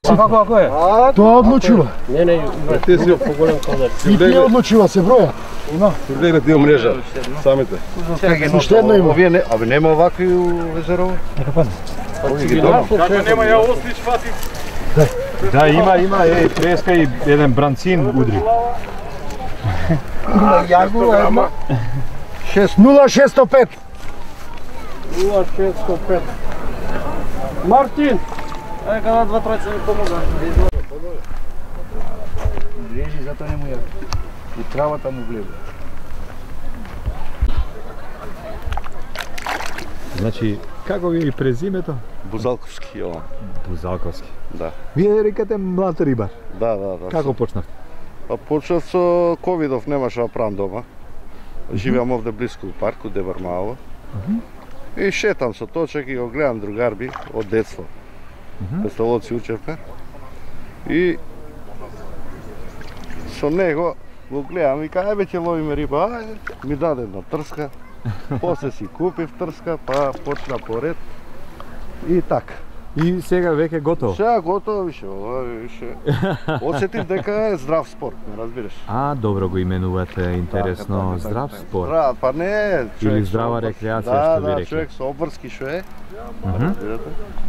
Како е? Тоа одлучува. Не, ти си поголем кадар. И тие одлучува, се броја. Има. Гледа тие мрежа, самите. Уште едно има. Овие абе нема овакви у езерово? Нека падне. Како нема ја ослич фати? Да, има, треска и еден бранцин удри. Има јагова една. 0605. 0605. Мартин! Ајде када два тројца ми помога. Режи, затоа не му ја. И травата му влезе. Значи, како ви и презимето? Бузалковски, ова. Бузалковски. Да. Вие рекате млад рибар. Да. Како почнавте? Па почнав со ковидов, немаше да правам дома. Живеам овде блиску у парку, Дебар Мало. И шетам со точек и го гледам другарби од детство. Пестолоци учевме. И со него го гледам и кај веќе ловиме риба, ајде, ми даде една трска. После си купив трска, па почна поред. И така. И сега веќе готово? Сега готово, више. Осетив дека е здрав спорт, не разбираш. Добро го именувате, интересно, Така. здрав спорт. Па не, човек. Или здрава рекреација, што ви рекли. Да, човек со обврски што е.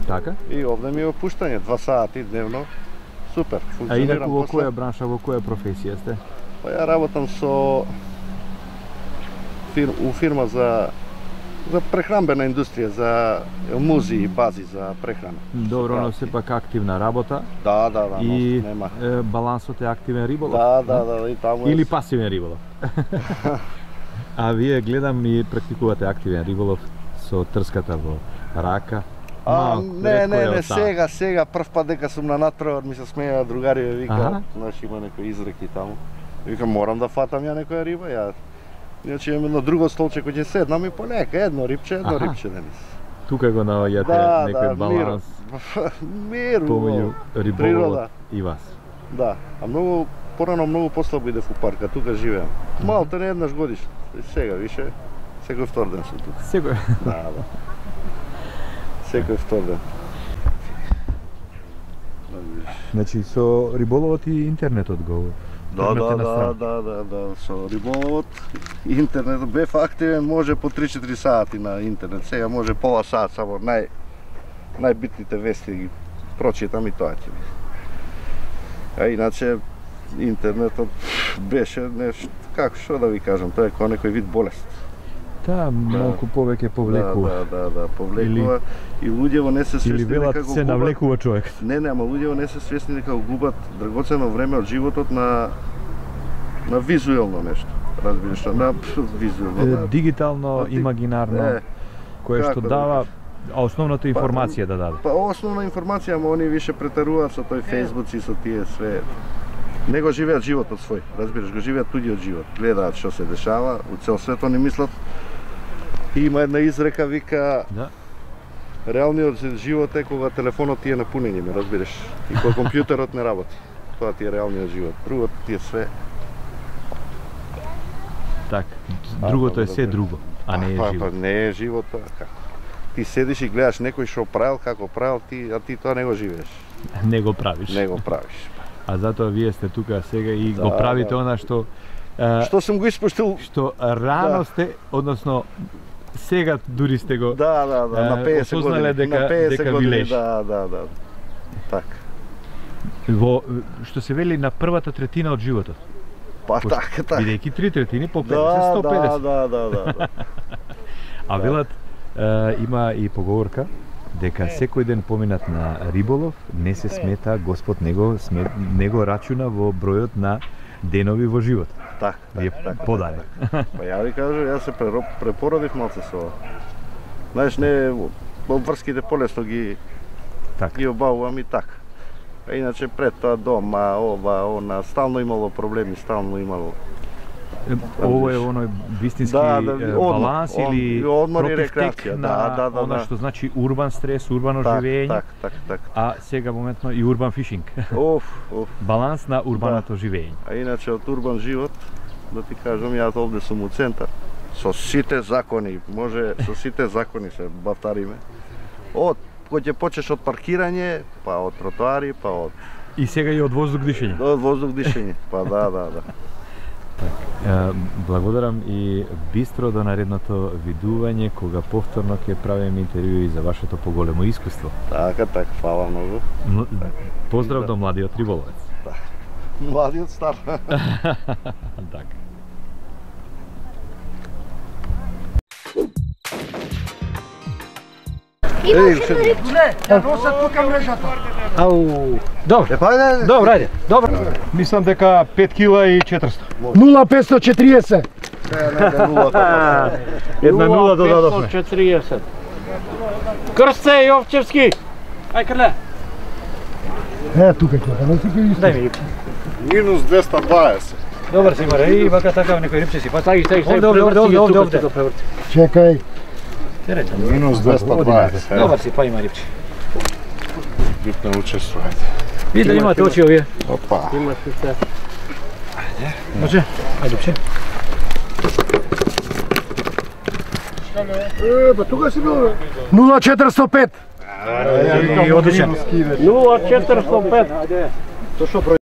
Така? И овде ми е опуштање, 2 сати дневно. Супер, А функционирам. инаку во која бранша, во која професија сте? Па ја работам со фирма за прехранбена индустрија, за музи и бази за прехрана. Добро, но сепак активна работа. Да, И нема. балансот е активен риболов? Да, и таму Или пасивен риболов? А вие гледам и практикувате активен риболов со трската во рака. Не, сега прв пат дека сум на натпревар ми се смеја другари, вика, значи има некои изреки таму. Вика морам да фатам ја некоја риба, ја. Иначе имам едно друго столче кој ќе седнам и полека едно рибче денес. Тука го наоѓате некој баланс. Мир, помеѓу риболовот и вас. Да, а порано многу послабо идев у парка, тука живеам. Малте не еднаш годишно. Сега више секој втор ден сум тука. Секој. Да. Секој втор ден. Значи со риболовот и интернетот го. Да, со риболовот и интернетот бев активен, може по 3-4 сати на интернет. Сега може пола сат, само најбитните вести ги прочитам и тоа ќе биде. А иначе интернетот беше нешто, како што да ви кажам, тоа е како некој вид болест. Да, малку повеќе повлекува. Да, повлекува и луѓето не се свесни дека го се навлекува човек. Не, ама луѓето не се свесни дека го губат драгоцено време од животот на визуелно нешто. Разбираш, на визуелно. Дигитално, имагинарно, кое што дава основната информација да даде. Па основна информација, ама они више претаруваат со тој Facebook и со тие све. Не го живеат животот свој, разбираш, го живеат туѓиот живот. Гледаат што се дешава, у цел свет они мислат. Има една изрека, вика, реалниот живот е кога телефонот ти е на пунење, ме разбираш, и кога компјутерот не работи. Тоа ти е реалниот живот. Другото ти е све. Так, другото е се друго, а не е живот. Па не е живот, како? Ти седиш и гледаш некој што правил, како правил, а ти тоа не го живееш. Не го правиш. Не го правиш. А затоа вие сте тука сега и го правите она што сум го испуштил, што рано сте, односно сега дури сте го на 50 години, дека ви лежи. Да. Така. Што се вели на првата третина од животот. Па така. Бидејќи 3/3 по 50, 150. Да. А велат има и поговорка дека секој ден поминат на риболов не се смета, Господ него рачуна во бројот на денови во живот. Така. Подари. Па ја ви кажам, јас се препородив малце со ова. Знаеш, не обврските полесно ги обавувам и така. А иначе пред тоа дома, ова, она, стално имало проблеми, стално имало. Ово е оној вистински баланс или против на она што значи урбан стрес, урбано живење. Так. А сега моментно и урбан фишинг. Баланс на урбаното живење. А иначе од урбан живот, да ти кажам, јас овде сум у центар. Со сите закони, може со сите закони се бавтариме. Од кој ќе почнеш од паркирање, па од тротоари, па од И сега и од воздух дишење. од воздух дишење. Па да. Благодарам и бистро до наредното видување кога повторно ќе правиме интервјуи за вашето поголемо искуство. Така, фала многу. Поздрав до младиот риболовец. Младиот стар. Така. Ја носат тука мрежата. Ау, добро. Ајде. Добро, ајде. Добро. Мислам дека 5 кила и 400. 0540. Една нула додадовме. 540. Крсце Јовчевски. Ај Крле. Тука ќе, не си ќе исто. Дај ми рибче. Минус 220. Добар си маре, и вака така некој рибче си. Па стаги. Овде. Чекај. Минус 220. Добар си, па има рибче. Битно учествувајте. Ви да имате очи овие. Опа. Имате се. Може? Ајде рибче. Па тука си бил. 0405. Одличен. 0405. Зошто број?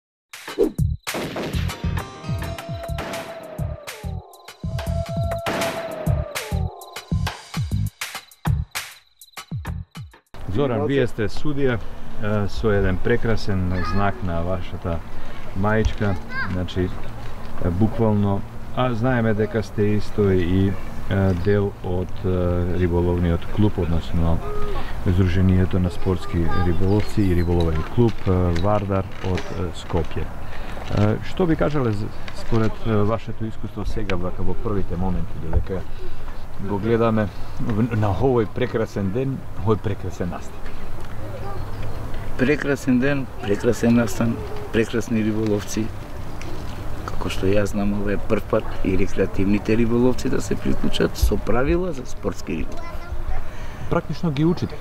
Зоран, вие сте судија со еден прекрасен знак на вашата маичка, значи буквално, знаеме дека сте исто и дел од риболовниот клуб, односно Сдруженијето на спортски риболовци и риболовен клуб Вардар од Скопје. Што би кажале според вашето искуство сега во првите моменти, додека го гледаме на овој прекрасен ден, овој прекрасен настан? Прекрасен ден, прекрасен настан, прекрасни риболовци. Како што јас знам, ова е прв пат и рекреативните риболовци да се приклучат со правила за спортски риболов. Практично ги учите?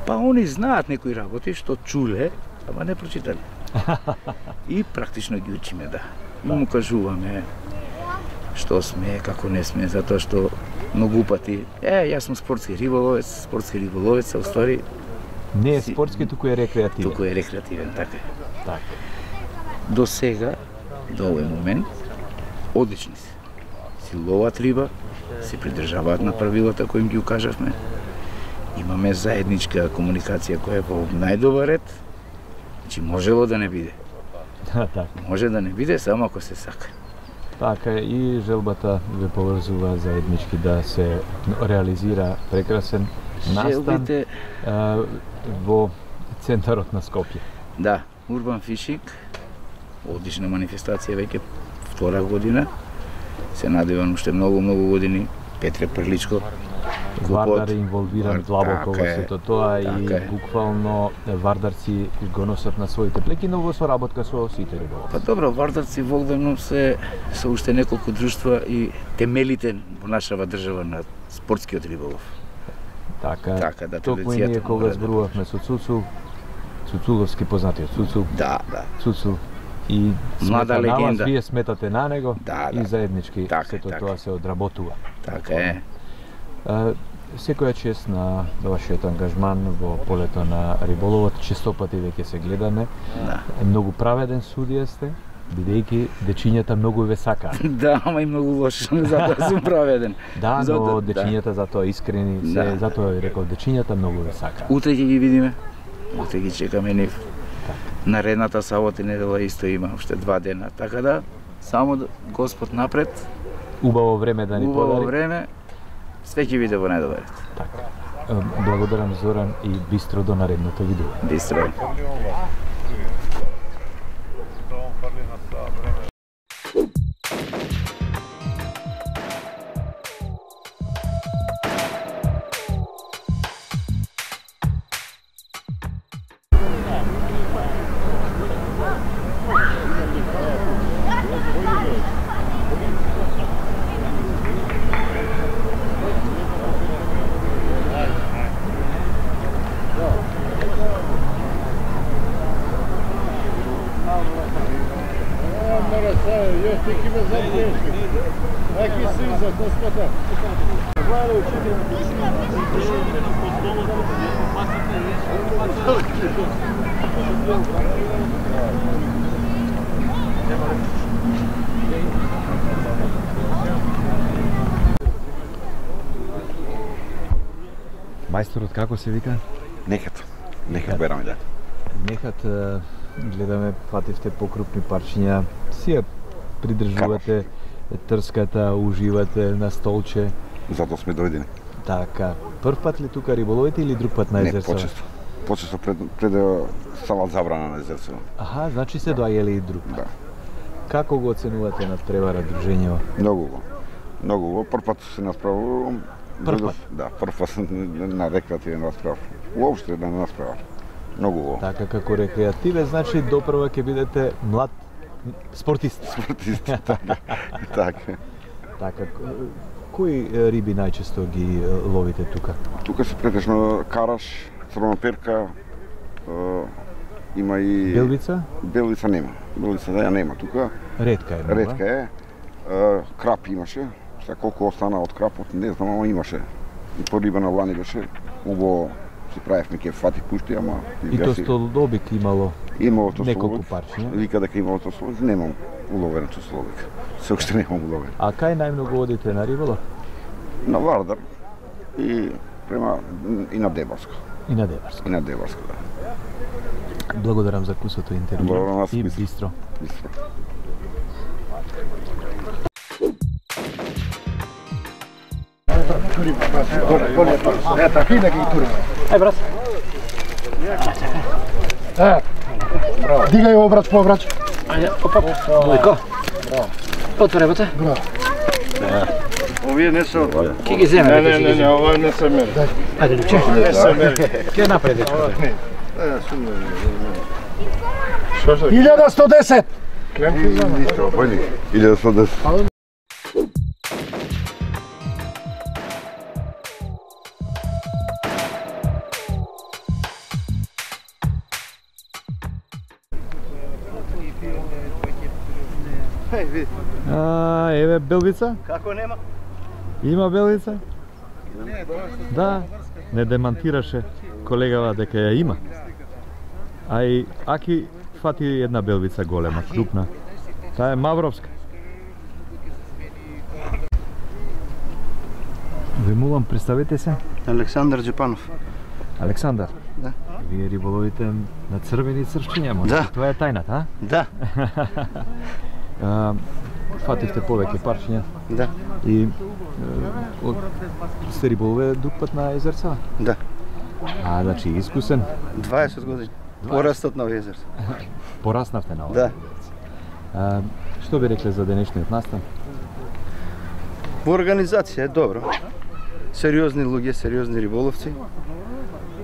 Па они знаат некои работи што чуле, ама не прочитале. И практично ги учиме, да. И му кажуваме што сме, како не сме, затоа што многу пати, јас сум спортски риболовец, а уствари Не е спортски, туку е рекреативен. Туку е рекреативен, така е. Така. До сега, до овој момент, одлични се. Си ловат риба, се придржаваат на правилата кои им ги укажавме. Имаме заедничка комуникација која е во најдобар ред. Значи можело да не биде. Така. Може да не биде, само ако се сака. Така и желбата ве поврзува заеднички да се реализира прекрасен настан Желбите... во центарот на Скопје. Да, Urban Fishing, одлична манифестација веќе втора година. Се надевам уште многу години. Петре Прличко, Вардар е инволвиран длабоко во сето тоа и буквално вардарци го носат на своите плеки, но во соработка со сите риболовци. Па добро, вардарци во Огдавно се со уште неколку друштва и темелите во нашава држава на спортскиот риболов. Така, да, токму и ние кога зборувавме со Цуцул, Цуцуловски познатиот Цуцул. Да. Цуцул и млада легенда. Вие сметате на него и заеднички сето тоа се одработува. Така е. Секоја чест на вашиот ангажман во полето на риболовот, честопати веќе се гледаме. Да. Многу праведен судија сте, бидејќи дечињата многу ве сакаат. Да, ама и многу лош, затоа сум праведен. Да, но дечињата затоа искрени се, затоа ви рекол, дечињата многу ве сакаат. Утре ќе ги видиме, утре ги чекаме нив. Наредната сабота и недела исто има уште 2 дена, така да само Господ напред. Убаво време да ни подари. Убаво време, све ќе биде во најдобар ред. Така. Благодарам Зоран и бистро до наредното видео. Бистро. Aqui se usa, Мајсторот како се вика? Нехат бераме да. Нехат гледаме фативте покрупни парчиња, си ја придржувате трската, уживате на столче. Затоа сме дојдени. Така, прв пат ли тука риболовите или друг пат на Не, езерцево? почесто. Почесто пред да стават забрана на езерцево. Аха, значи се доаѓали и друг пат. Да. Како го оценувате над превара дружењево? Многу го. Прв пат се насправувам. Прв пат? Да, прв пат на рекреативен расправ. Уопште да не расправа. Многу го. Така, како рекреативен, значи допрва ќе бидете млад спортист. Спортист, така. Така. Така, кои риби најчесто ги ловите тука? Тука се претежно караш, црвоноперка, има и... Белвица? Белвица нема. Белвица да ја нема тука. Ретка е, нова? Ретка е. Крап имаше. Сега колку остана од крапот, не знам, ама имаше. И по риба на лани беше. Убаво си правевме ке фати пушти, ама... И то столобик имало Имало неколку тостолобик. парчиња? Вика дека имало тостолобик, немам уловен тостолобик. Се уште немам уловен. А кај најмногу одите на риболов? На Вардар и и на Дебарско. И на Дебарско. И на Дебарско, да. Благодарам за кусото интервју. Благодарам вас, И Бистро. бистро. Бистро. Ета, хида ги тури. Ај брат. Дигај обрач по обрач. Ајде, опа. Мојко. Отвори бате. Овие не се од овие. Ке ги земе. Не, ова не се мери. Ајде, Луче. Не се мери. Ке напред, дечко. 1110. Ништо, појни. 1110. Еве белвица? Како нема? Има белвица? Да, не демантираше колегава дека ја има. А и Аки фати една белвица голема, крупна. Таа е мавровска. Ви молам, представете се. Александар Джепанов. Александар. Да. Вие риболовите на црвени црвчиња, може? Да. Тоа е тајната, а? Да. Фативте повеќе парчиња Да. и сте риболове друг пат на езерца? Да. А, значи искусен. 20 години. Порастот на овие езерца. Пораснавте на ова. Да. Што би рекле за денешниот настан? Во организација е добро. Сериозни луѓе, сериозни риболовци.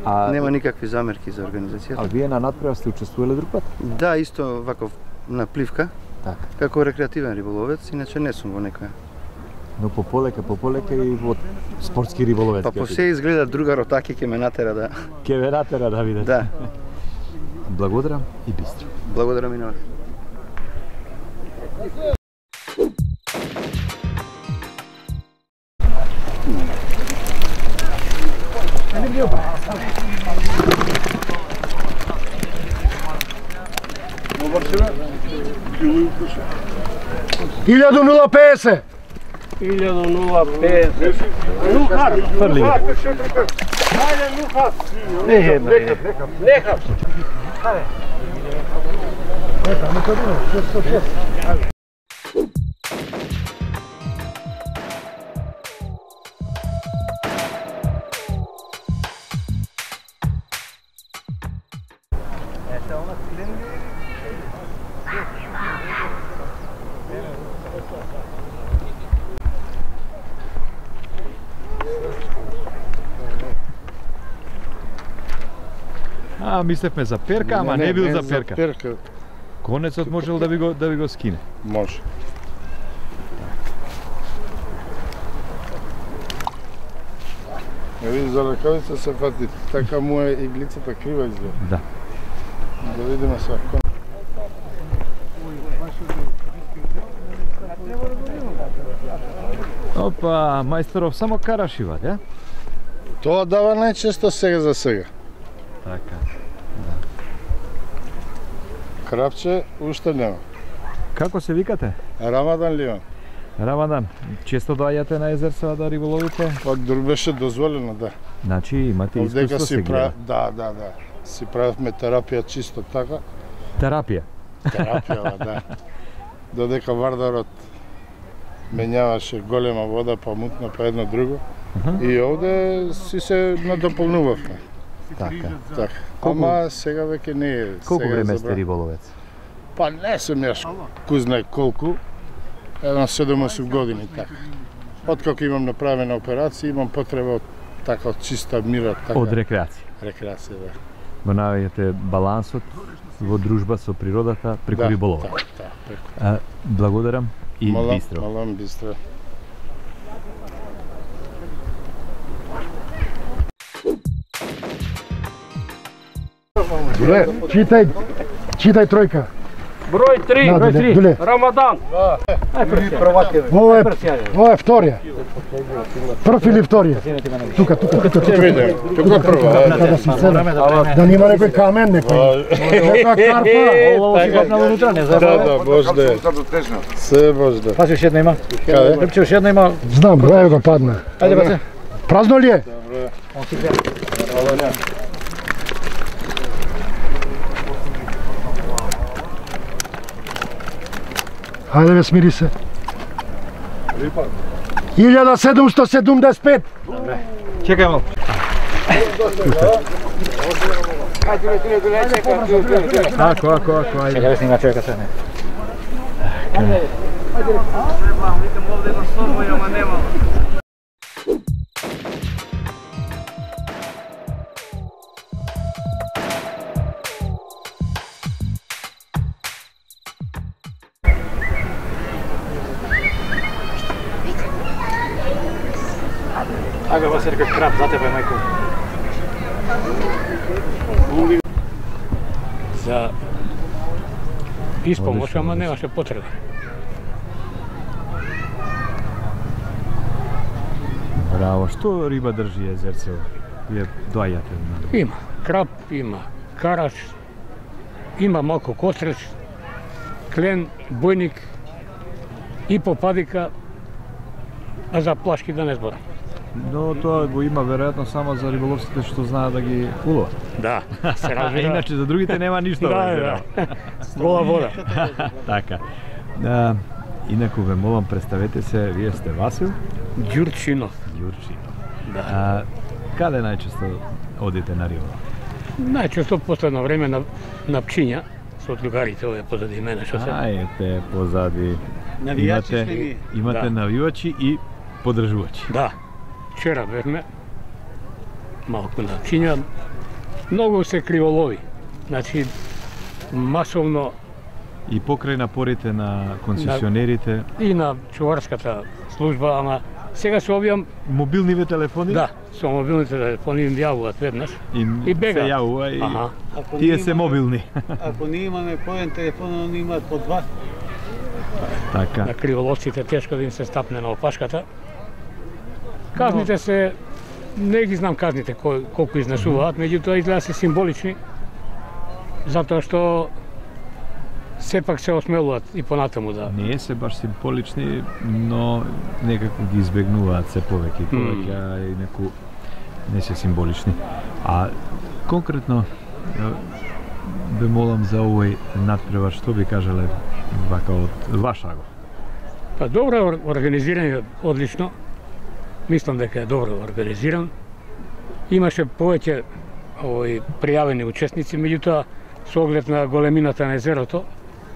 А, Нема никакви замерки за организацијата. а вие на надпревар сте учествувале друг пат? Да, исто ваков на пливка, Така. како рекреативен риболовец, иначе не сум во некоја. Но пополека и во спортски риболовец. Па по се изгледа друга ротаки ќе ме натера да... Ке ве натера да видите. Да, Благодарам и бистро. благодарам и на вас. Илјаду 050. 1005. Фрли. Мислевме за перка, ама не бил за перка. Перка. Конецот можел да ви го скине. Може. Види, за ракавица се фати, така му е иглицата крива изгледа. Да. Да видиме сега. Опа, мајсторов само карашива, да? Тоа дава најчесто сега за сега. Така. Крапче уште нема. Како се викате? Рамадан Ливан. Рамадан, често доаѓате на Езерцева да риболовите? Пак дур беше дозволено, да. Значи имате искуство се гледа. Да. Си правевме терапија чисто така. Терапија. Терапија, да. Додека Вардарот менјаваше голема вода, па мутна, па едно друго. И овде си се надополнувавме. Така. Ама сега веќе не е. Колку време сте риболовец? Па не сум јаш кој знае колку. Едно 7-8 години така. Откако имам направена операција, имам потреба од така од чиста мира, така. Од рекреација. Рекреација, да. Го наоѓате балансот во дружба со природата преку риболовот. Да. Благодарам и бистро. Малам бистро. Дуле, читај тројка. Број 3, Да, Дуле. Рамадан. Ова е вторија. Прв или вторија? Тука. Ќе видим. Тука прво. Да си седа. Да нема некој камен, некој. Некоја карпа. Ovo si kopnalo unutra, ne znam. Да, може да е. Се може да. Пази, уште една има. Каде? Лепче, уште една има. Знам, број го падна. Ајде, баце. Празно ли е? Он си гледа. Хајде бе, смири се. 1775. Чекај малку. Ако, ајде. Чекај да снима човека се не. Ајде, вас рекаш крап, за тебе, мајко. За испомош, ама немаше потреба. Браво, што риба држи Езерцево? Вие доаѓате на... Има крап, има караш, има малку костреч, клен, бојник и попадика, а за плашки да не зборам. Но тоа го има веројатно само за риболовците што знаат да ги уловат. Да, се А разбира. иначе за другите нема ништо. Да. Гола вода. Така. Инаку ве молам, представете се, вие сте Васил Ѓурчинов. Ѓурчинов. Да. Каде најчесто одите на риболов? Најчесто последно време на Пчиња, со другарите овие позади мене што се. Ајте позади. Навијачи сте ви. Имате Да. навивачи и подржувачи. Да. Вчера бевме малку на Пчиња. Многу се криволови. Значи масовно И покрај напорите на концесионерите, и на чуварската служба, ама сега се објам, мобилниве телефони, да, со мобилните телефони им јавуваат веднаш. и бега. се јавува и Аха. тие се мобилни. Ако не имаме поен телефон, они имаат по два. Така. На криволовците тешко да им се стапне на опашката. Казните се, не ги знам казните колку изнесуваат, меѓутоа изгледа се символични, затоа што сепак се осмелуваат и понатаму да... Не се баш символични, но некако ги избегнуваат се повеќе и повеќе, а и неку не се символични. А конкретно ве молам за овој надпревар, што би кажале вака од ваш агов? Па добро е организиран, одлично. Мислам дека е добро организиран. Имаше повеќе пријавени учесници, меѓутоа со оглед на големината на езерото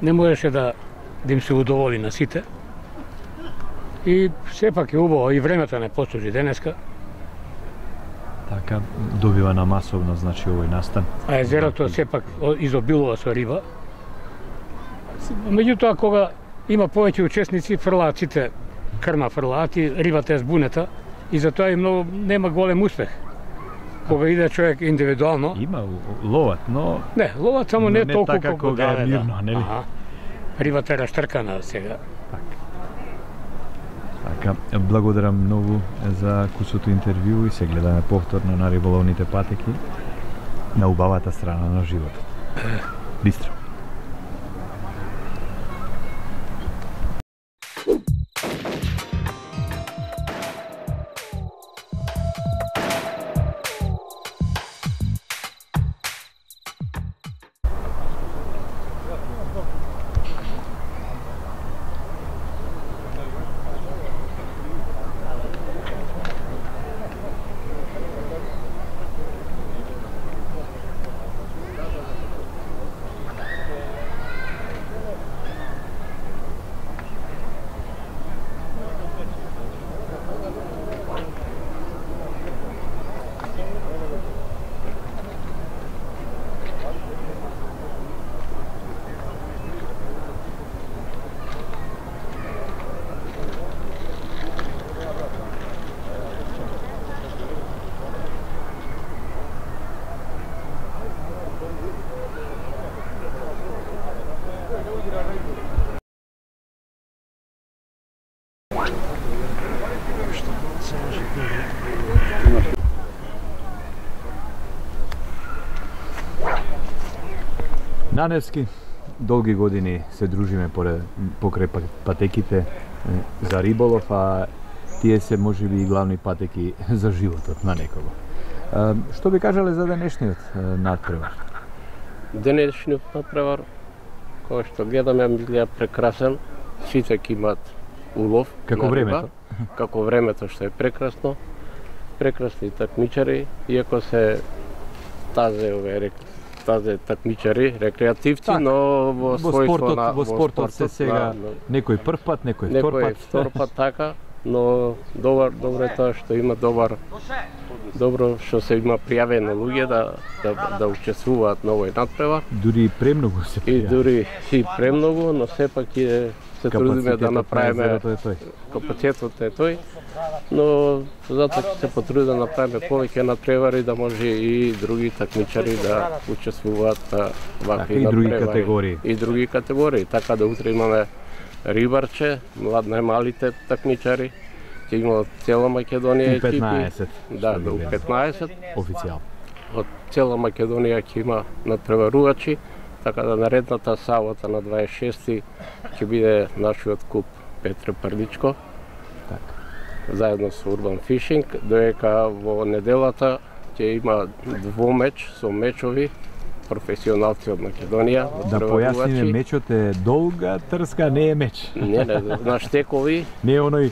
не можеше да им се удоволи на сите. И сепак е убаво и времето не послужи денеска, Така добива на масовно, значи овој настан. а езерото сепак изобилува со риба. Меѓутоа кога има повеќе учесници, фрлаат сите крма фрлаат и рибата е збунета и затоа и многу нема голем успех. Кога иде човек индивидуално, Има ловат, но не, ловат само не не толку така колку кога е да, мирно, нели? Аха. Рибата е раштркана сега. така. Така, благодарам многу за кусото интервју и се гледаме повторно на риболовните патеки на убавата страна на животот. Бистро. На Невски долги години се дружиме покрај патеките за риболов, а тие се можеби и главни патеки за животот на некого. Што би кажале за денешниот надпревар? Денешниот надпревар, кој што гледаме, ми изгледа прекрасен. Сите ќе имаат улов. Како времето? Како времето што е прекрасно. Прекрасни такмичари, иако се тазе такмичари, рекреативци, так, но во спортот се сега некој прв пат, некој втор пат така, но добро е тоа што има добро што се има пријавено луѓе да учествуваат на овој надпревар. Дури премногу се пријави. И дури и премногу, но сепак се трудиме да направиме капацитетот е тој. Но затоа ќе се потруди да направиме повеќе надпревари, да може и други такмичари да учествуваат на вакви надпревари. И други категории, така да утре имаме рибарче, најмалите такмичари, ќе има од цела Македонија екипи. 15. Да, до 15. Официјално. Од цела Македонија ќе има надпреварувачи, така да наредната сабота на 26 ќе биде нашиот куп Петре Прличко. Така. Заедно со Urban Fishing, доека во неделата ќе има двомеч со мечови професионалци од Македонија. Да појасниме, мечот е долга трска, не е меч. Не, на штекови. Не е оној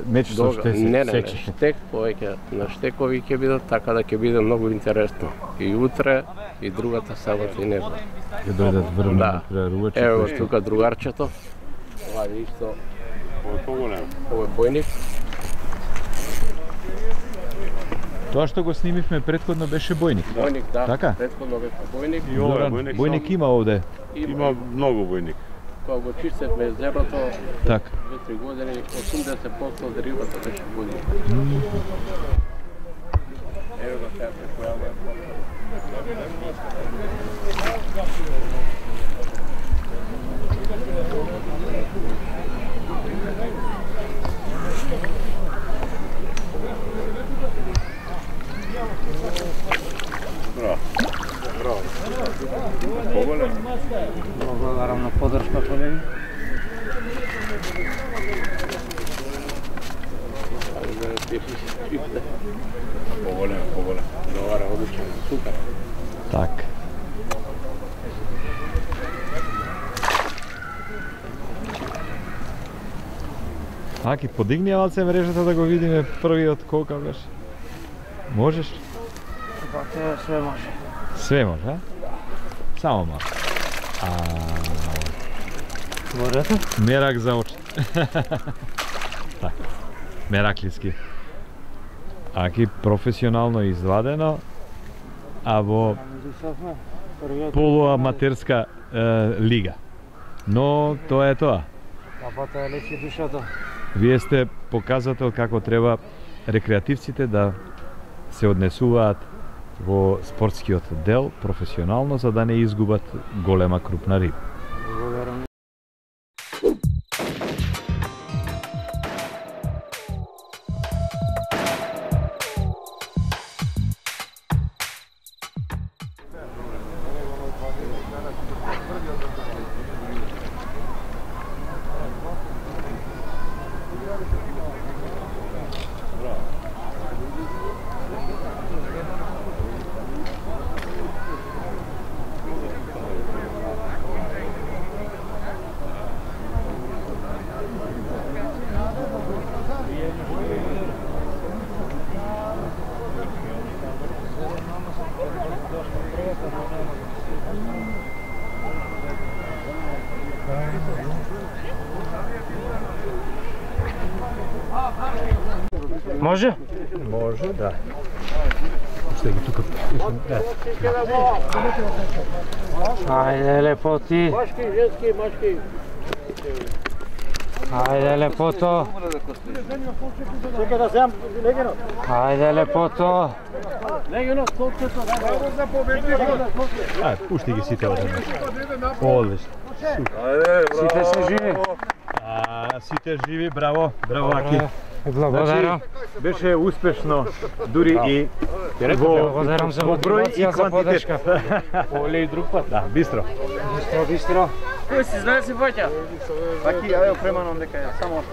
меч со што се сече. Не, штек, повеќе на штекови ќе бидат, така да ќе биде многу интересно. И утре, и другата сабота и недела. Ќе дојдат врвни надпреварувачи. Ево тука другарчето. Ова е исто. Ова е поголем. Ова е бојник. Тоа што го снимивме претходно беше бојник. Бојник, да. Така? Претходно беше бојник. И ова бојник има овде. Има многу бојник. Кога го чистевме езерото, така. 2-3 години, 80% од рибата беше бојник. Ево го сега се појавува. Благодарам на поддршка, колеги. Поголем. Добре, одлично, супер. Так. Аки, подигни малце мрежата да го видиме првиот колка беше. Можеш? Све може. Све може, а? Само може. Борето? Мерак за очи. Так. Мераклиски. Аки професионално извадено, а во полуаматерска лига. Но тоа е тоа. Папата лечи душата. Вие сте показател како треба рекреативците да се однесуваат во спортскиот дел професионално, за да не изгубат голема крупна риба. Благодарам. Може? Може, да. Ще ги тука. Ајде, лепоти. Машки, женски, машки. Ајде, лепото. Чека да земам легено. Ајде, лепото. Легено, колкото. Пушти ги сите одеднаш. Одлично. Сите се живи. Сите живи, браво, браво Аки. Благодарам. Беше успешно, дури и Благодарам за мотивација, за подршка. Оле и друг пат. Да, бистро. Бистро. Кој си знае се ваќа? Аки, ајде преманом дека ја само